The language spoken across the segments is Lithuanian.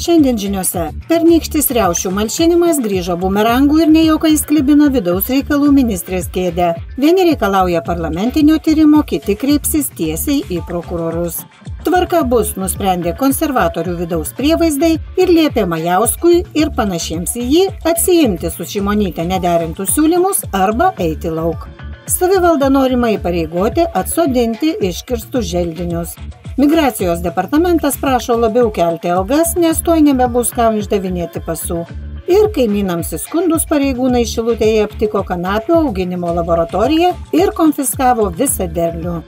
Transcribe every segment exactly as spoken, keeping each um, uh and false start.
Šiandien žiniose pernykštis riaušių malšinimas grįžo bumerangų ir nejuokais klibino vidaus reikalų ministrės kėdę. Vieni reikalauja parlamentinio tyrimo, kiti kreipsis tiesiai į prokurorus. Tvarka bus, nusprendė konservatorių vidaus prievaizdai ir liepė Majauskui ir panašiems į jį atsiimti su Šimonyte nederintus siūlymus arba eiti lauk. Savivalda norima įpareigoti atsodinti iškirstus želdinius. Migracijos departamentas prašo labiau kelti algas, nes tuoj nebebus kam išdavinėti pasų. Ir kaimynams įskundus pareigūnai Šilutėje aptiko kanapių auginimo laboratoriją ir konfiskavo visą derlių.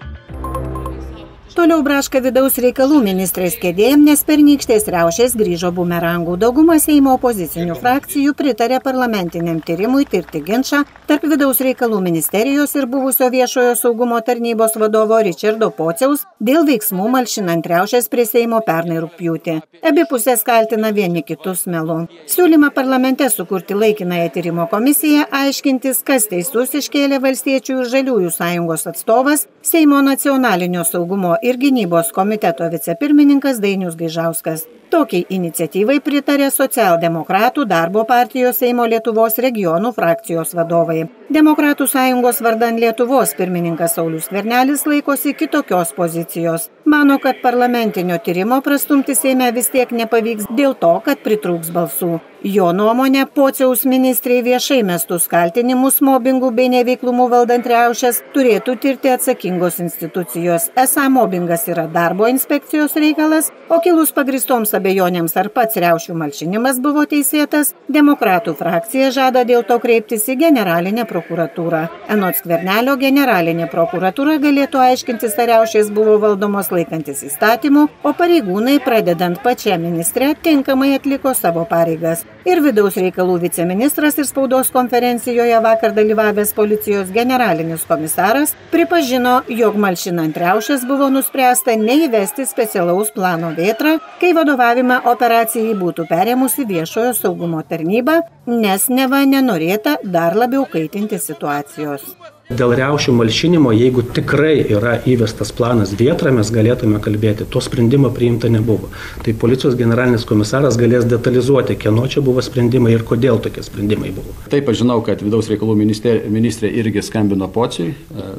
Toliau braška vidaus reikalų ministrės kėdėjim, nes pernykštės riaušės grįžo bumerangų. Dauguma Seimo opozicinių frakcijų pritarė parlamentiniam tyrimui tirti ginčą tarp vidaus reikalų ministerijos ir buvusio viešojo saugumo tarnybos vadovo Ričardo Pociaus dėl veiksmų malšinant riaušės prie Seimo pernai rugpjūtį. Abi pusės kaltina vieni kitus melu. Siūlymą parlamente sukurti laikinąją tyrimo komisiją aiškintis, kas teisus, iškėlė Valstiečių ir Žaliųjų sąjungos atstovas Seimo nacionalinio saugumo ir gynybos komiteto vicepirmininkas Dainius Gaižauskas. Tokiai iniciatyvai pritarė socialdemokratų darbo partijos Seimo Lietuvos regionų frakcijos vadovai. Demokratų sąjungos vardan Lietuvos pirmininkas Saulius Skvernelis laikosi kitokios pozicijos. Mano, kad parlamentinio tyrimo prastumti Seime vis tiek nepavyks dėl to, kad pritrūks balsų. Jo nuomonė, Pociaus ministrei viešai mestus kaltinimus mobingų bei neveiklumų valdant riaušes turėtų tirti atsakingos institucijos. Esą mobingas yra darbo inspekcijos reikalas, o kilus pagristoms abejonėms ar pats riaušių malšinimas buvo teisėtas, demokratų frakcija žada dėl to kreiptis į generalinę prokuratūrą. Anot Skvernelio, generalinė prokuratūra galėtų aiškintis, ar riaušės buvo valdomos laikantis įstatymų, o pareigūnai, pradedant pačią ministrę, tinkamai atliko savo pareigas. Ir vidaus reikalų viceministras ir spaudos konferencijoje vakar dalyvavęs policijos generalinis komisaras pripažino, jog malšinant riaušes buvo nuspręsta neįvesti specialaus plano Vėtra, kai vadovavimą operacijai būtų perėmusi viešojo saugumo tarnyba, nes neva nenorėta dar labiau kaitinti situacijos. Dėl riaušių malšinimo, jeigu tikrai yra įvestas planas Vėtra, mes galėtume kalbėti, to sprendimo priimta nebuvo. Tai policijos generalinis komisaras galės detalizuoti, kieno čia buvo sprendimai ir kodėl tokie sprendimai buvo. Taip, aš žinau, kad vidaus reikalų ministrė, ministrė irgi skambino Pociui,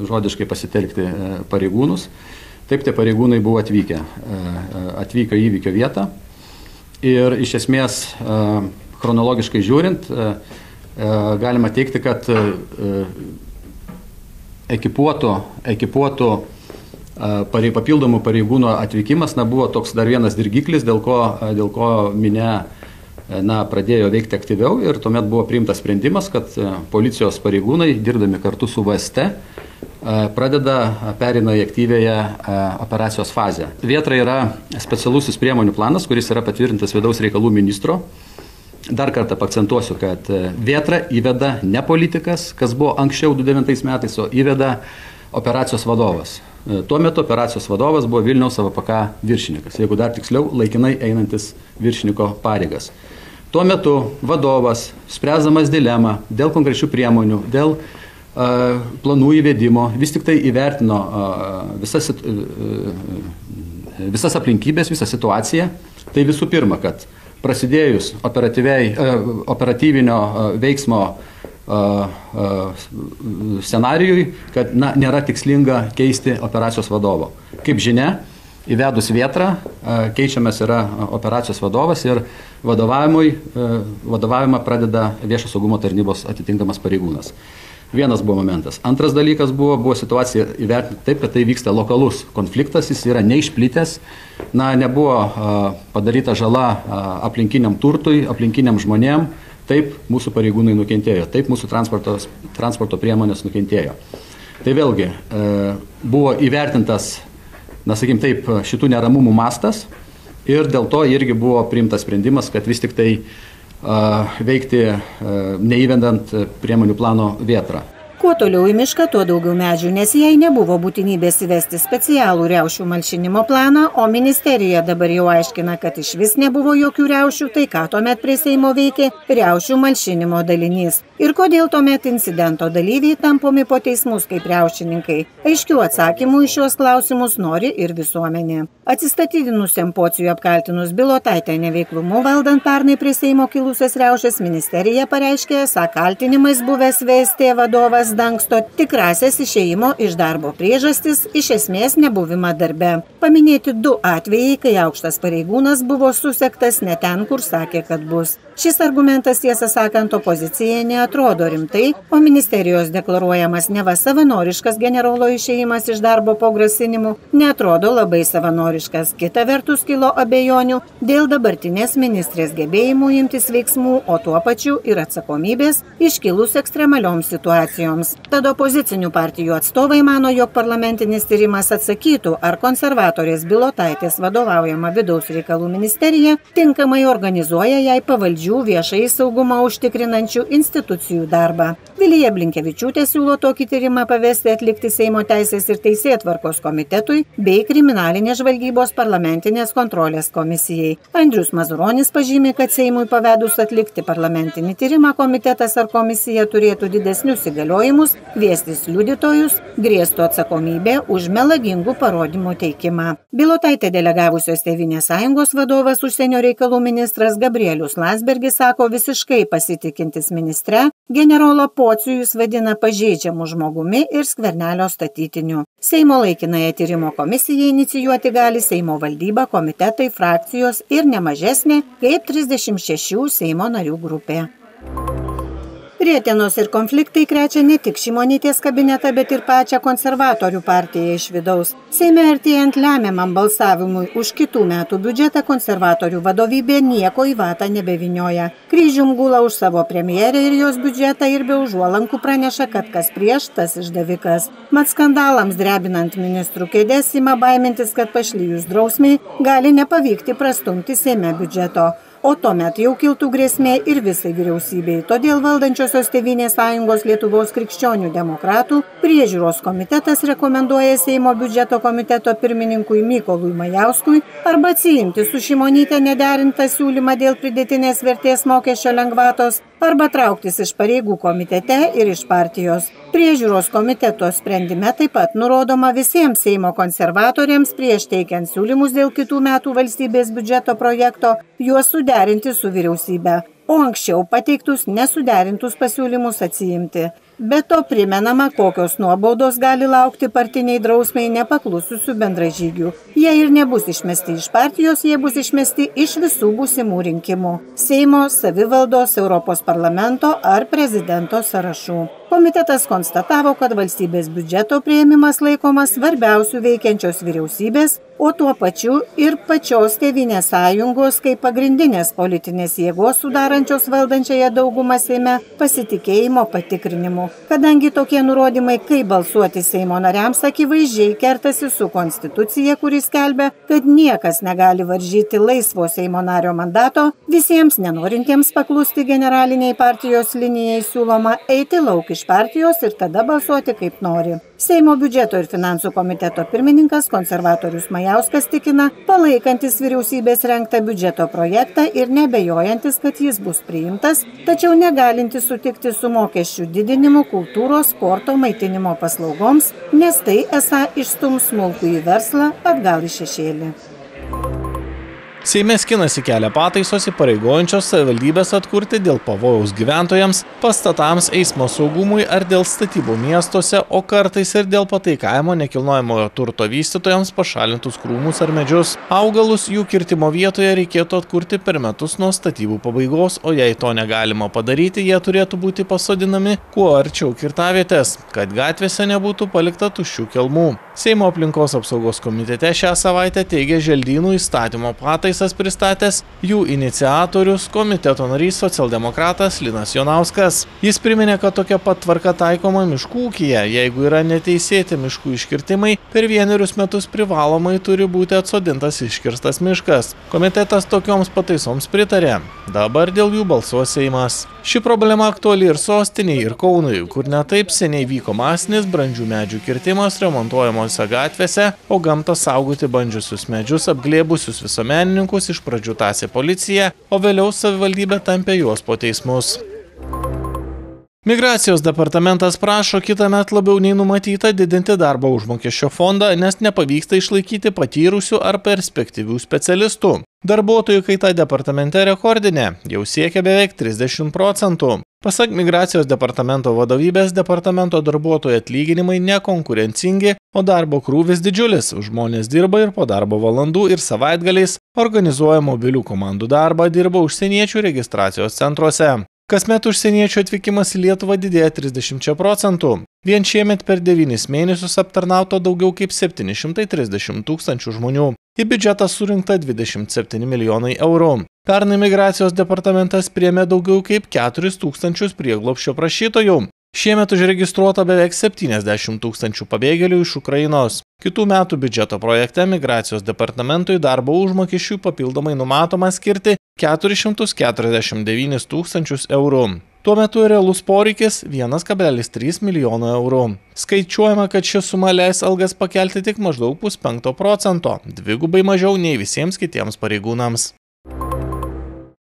žodiškai pasitelkti pareigūnus. Taip, tie pareigūnai buvo atvykę, atvyko į įvykio vietą ir iš esmės chronologiškai žiūrint, galima teikti, kad ekipuotų, ekipuotų parei, papildomų pareigūnų atvykimas na, buvo toks dar vienas dirgiklis, dėl ko, dėl ko minia na, pradėjo veikti aktyviau ir tuomet buvo priimtas sprendimas, kad policijos pareigūnai, dirbdami kartu su V S T, pradeda pereina į aktyvėją operacijos fazę. Vėtra yra specialusis priemonių planas, kuris yra patvirtintas vidaus reikalų ministro. Dar kartą akcentuosiu, kad Vėtra įveda ne politikas, kas buvo anksčiau du tūkstančiai devintais metais, o įveda operacijos vadovas. Tuo metu operacijos vadovas buvo Vilniaus A V P K viršininkas, jeigu dar tiksliau, laikinai einantis viršininko pareigas. Tuo metu vadovas, spręsdamas dilemą dėl konkrečių priemonių, dėl uh, planų įvedimo, vis tik tai įvertino uh, visas, uh, visas aplinkybės, visą situaciją. Tai visų pirma, kad prasidėjus operatyvinio veiksmo scenarijui, kad na, nėra tikslinga keisti operacijos vadovo. Kaip žinia, įvedus Vėtrą, keičiamas yra operacijos vadovas ir vadovavimą pradeda viešo saugumo tarnybos atitinkamas pareigūnas. Vienas buvo momentas. Antras dalykas buvo, buvo situacija įvertinti taip, kad tai vyksta lokalus konfliktas, jis yra neišplitęs, na, nebuvo a, padaryta žala a, aplinkiniam turtui, aplinkiniam žmonėm, taip mūsų pareigūnai nukentėjo, taip mūsų transporto, transporto priemonės nukentėjo. Tai vėlgi e, buvo įvertintas, na, sakykim taip, šitų neramumų mastas ir dėl to irgi buvo priimtas sprendimas, kad vis tik tai veikti neįvedant priemonių plano Vėtrą. Kuo toliau į mišką, tuo daugiau medžių, nes jai nebuvo būtinybės įvesti specialų riaušių malšinimo planą, o ministerija dabar jau aiškina, kad iš vis nebuvo jokių riaušių, tai ką tuomet prie Seimo veikė riaušių malšinimo dalinys. Ir kodėl tuomet incidento dalyviai tampomi po teismus kaip riaušininkai? Aiškių atsakymų į šios klausimus nori ir visuomenė. Atsistatydinusiam Pociui apkaltinus Bilotaitę neveiklumu valdant pernai prie Seimo kilusias riaušes, ministerija pareiškė, esą kaltinimais buvęs V S T vadovas dangsto tikrasias išėjimo iš darbo priežastis, iš esmės nebuvimą darbe. Paminėti du atvejai, kai aukštas pareigūnas buvo susektas ne ten, kur sakė, kad bus. Šis argumentas, tiesą sakant, opozicijai neatrodo rimtai, o ministerijos deklaruojamas neva savanoriškas generolo išėjimas iš darbo po grasinimų neatrodo labai savanoriškas. Kita vertus kilo abejonių dėl dabartinės ministrės gebėjimų imtis veiksmų, o tuo pačiu ir atsakomybės iškilus ekstremalioms situacijoms. Tad opozicinių partijų atstovai mano, jog parlamentinis tyrimas atsakytų, ar konservatorės Bilotaitės vadovaujama vidaus reikalų ministerija tinkamai organizuoja jai pavaldžių viešai saugumą užtikrinančių institucijų darbą. Vilija Blinkevičiūtė siūlo tokį tyrimą pavesti atlikti Seimo teisės ir teisėtvarkos komitetui bei kriminalinės žvalgybos parlamentinės kontrolės komisijai. Andrius Mazuronis pažymė, kad Seimui pavedus atlikti parlamentinį tyrimą komitetas ar komisija turėtų didesnius įgaliojimus, kviestis liudytojus, grėstų atsakomybė už melagingų parodymų teikimą. Bilotaitę delegavusios Tėvynės sąjungos vadovas užsienio reikalų ministras Gabrielius Landsbergis sako visiškai pasitikintis ministre, generolą Pocių jis vadina pažeidžiamų žmogumi ir Skvernelio statytiniu. Seimo laikinąją tyrimo komisiją inicijuoti gali Seimo valdyba, komitetai, frakcijos ir nemažesnė kaip trisdešimt šešių Seimo narių grupė. Rietenos ir konfliktai krečia ne tik Šimonytės kabinetą, bet ir pačią konservatorių partiją iš vidaus. Seime artėjant lemiamam balsavimui už kitų metų biudžetą konservatorių vadovybė nieko į vatą nebevinioja. Kryžium gula už savo premjerę ir jos biudžetą ir be užuolankų praneša, kad kas prieš, tas išdavikas. Mat skandalams drebinant ministrų kėdės ima baimintis, kad pašlijus drausmiai gali nepavykti prastumti Seime biudžeto. O tuomet jau kiltų grėsmė ir visai vyriausybei. Todėl valdančiosios Tėvynės sąjungos Lietuvos krikščionių demokratų priežiūros komitetas rekomenduoja Seimo biudžeto komiteto pirmininkui Mykolui Majauskui arba atsiimti su Šimonyte nederintą siūlymą dėl pridėtinės vertės mokesčio lengvatos, arba trauktis iš pareigų komitete ir iš partijos. Priežiūros komiteto sprendime taip pat nurodoma visiems Seimo konservatoriams prieš teikiant siūlymus dėl kitų metų valstybės biudžeto projekto juos suderinti su vyriausybe, o anksčiau pateiktus nesuderintus pasiūlymus atsiimti. Be to primenama, kokios nuobaudos gali laukti partiniai drausmiai nepaklususių bendražygių. Jie ir nebus išmesti iš partijos, jie bus išmesti iš visų būsimų rinkimų – Seimo, savivaldos, Europos parlamento ar prezidento sąrašų. Komitetas konstatavo, kad valstybės biudžeto priėmimas laikomas svarbiausių veikiančios vyriausybės, o tuo pačiu ir pačios Tėvynės sąjungos kaip pagrindinės politinės jėgos sudarančios valdančiąją daugumą Seime pasitikėjimo patikrinimu. Kadangi tokie nurodymai, kaip balsuoti Seimo nariams, akivaizdžiai kertasi su konstitucija, kuris skelbia, kad niekas negali varžyti laisvo Seimo nario mandato, visiems nenorintiems paklusti generaliniai partijos linijai siūloma eiti lauk iš partijos ir tada balsuoti kaip nori. Seimo biudžeto ir finansų komiteto pirmininkas konservatorius Majauskas tikina, palaikantis vyriausybės rengtą biudžeto projektą ir nebejojantis, kad jis bus priimtas, tačiau negalintis sutikti su mokesčių didinimu kultūros, sporto, maitinimo paslaugoms, nes tai esą išstums smulkųjį verslą atgal į šešėlį. Seime skinasi kelią pataisos įpareigojančios savivaldybės atkurti dėl pavojaus gyventojams, pastatams, eismo saugumui ar dėl statybų miestuose, o kartais ir dėl pataikavimo nekilnojamojo turto vystytojams pašalintus krūmus ar medžius. Augalus jų kirtimo vietoje reikėtų atkurti per metus nuo statybų pabaigos, o jei to negalima padaryti, jie turėtų būti pasodinami kuo arčiau kirtavietės, kad gatvėse nebūtų palikta tuščių kelmų. Seimo aplinkos apsaugos komitete šią savaitę teigė želdynų įstatymo pataisas pristatęs jų iniciatorius komiteto narys socialdemokratas Linas Jonauskas. Jis priminė, kad tokia pat tvarka taikoma miškų ūkyje, jeigu yra neteisėti miškų iškirtimai, per vienerius metus privalomai turi būti atsodintas iškirstas miškas. Komitetas tokioms pataisoms pritarė. Dabar dėl jų balsuos Seimas. Ši problema aktuali ir sostinei, ir Kaunui, kur netaip seniai vyko masinis brandžių medžių kirtimas remontuojamose gatvėse, o gamtą saugoti bandžiusius medžius apglėbusius visuomenininkus iš pradžių tąsė policija, o vėliau savivaldybė tampė juos po teismus. Migracijos departamentas prašo kitąmet labiau nei numatyta didinti darbo užmokesčio fondą, nes nepavyksta išlaikyti patyrusių ar perspektyvių specialistų. Darbuotojų kaita departamente rekordinė, jau siekia beveik trisdešimt procentų. Pasak Migracijos departamento vadovybės, departamento darbuotojų atlyginimai nekonkurencingi, o darbo krūvis didžiulis. Žmonės dirba ir po darbo valandų ir savaitgaliais, organizuoja mobilių komandų darbą, dirba užsieniečių registracijos centruose. Kasmet užsieniečių atvykimas į Lietuvą didėja trisdešimt procentų. Vien šiemet per devynis mėnesius aptarnauta daugiau kaip septyni šimtai trisdešimt tūkstančių žmonių. Į biudžetą surinkta dvidešimt septyni milijonai eurų. Pernai Migracijos departamentas priėmė daugiau kaip keturis tūkstančius prieglobsčio prašytojų. Šiemet užregistruota beveik septyniasdešimt tūkstančių pabėgėlių iš Ukrainos. Kitų metų biudžeto projekte Migracijos departamentui darbo užmokesčiui papildomai numatoma skirti keturis šimtus keturiasdešimt devynis tūkstančius eurų. Tuo metu realus poreikis vienas kablelis trys milijono eurų. Skaičiuojama, kad ši suma leis algas pakelti tik maždaug puspenkto procento, dvigubai mažiau nei visiems kitiems pareigūnams.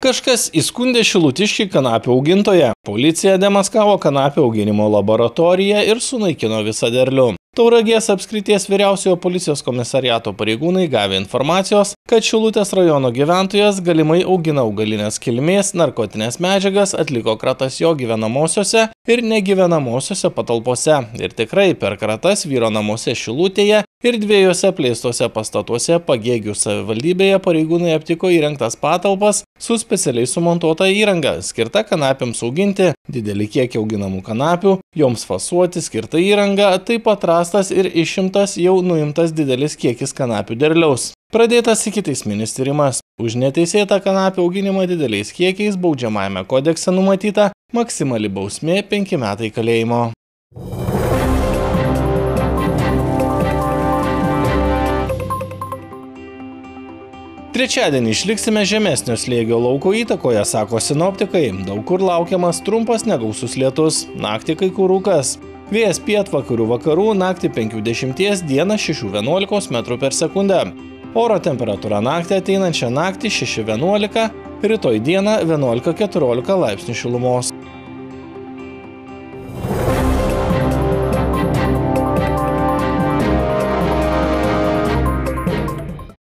Kažkas įskundė šilutiškį kanapių augintoją. Policija demaskavo kanapių auginimo laboratoriją ir sunaikino visą derlių. Tauragės apskrities vyriausiojo policijos komisariato pareigūnai gavę informacijos, kad Šilutės rajono gyventojas galimai augina augalinės kilmės narkotinės medžiagas, atliko kratas jo gyvenamosiose ir negyvenamosiose patalpose. Ir tikrai per kratas vyro namuose Šilutėje ir dviejose plėstose pastatuose Pagėgių savivaldybėje pareigūnai aptiko įrengtas patalpas su specialiai sumontuota įranga, skirta kanapiams auginti, didelį kiekį auginamų kanapių, joms fasuoti skirta įranga, taip pat rastas ir išimtas jau nuimtas didelis kiekis kanapių derliaus. Pradėtas ikiteisminis tyrimas. Už neteisėtą kanapių auginimą dideliais kiekiais baudžiamajame kodekse numatyta maksimali bausmė penki metai kalėjimo. Trečiadienį išliksime žemesnio slėgio lauko įtakoje, sako sinoptikai. Daug kur laukiamas trumpas negausus lietus, naktį kai kur rūkas. Vėjas pietvakarių vakarų, naktį penkių dešimties, dieną šešių vienuolikos metrų per sekundę. Oro temperatūra naktį ateinančią naktį šeši vienuolika, rytoj dieną vienuolika keturiolika laipsnių šilumos.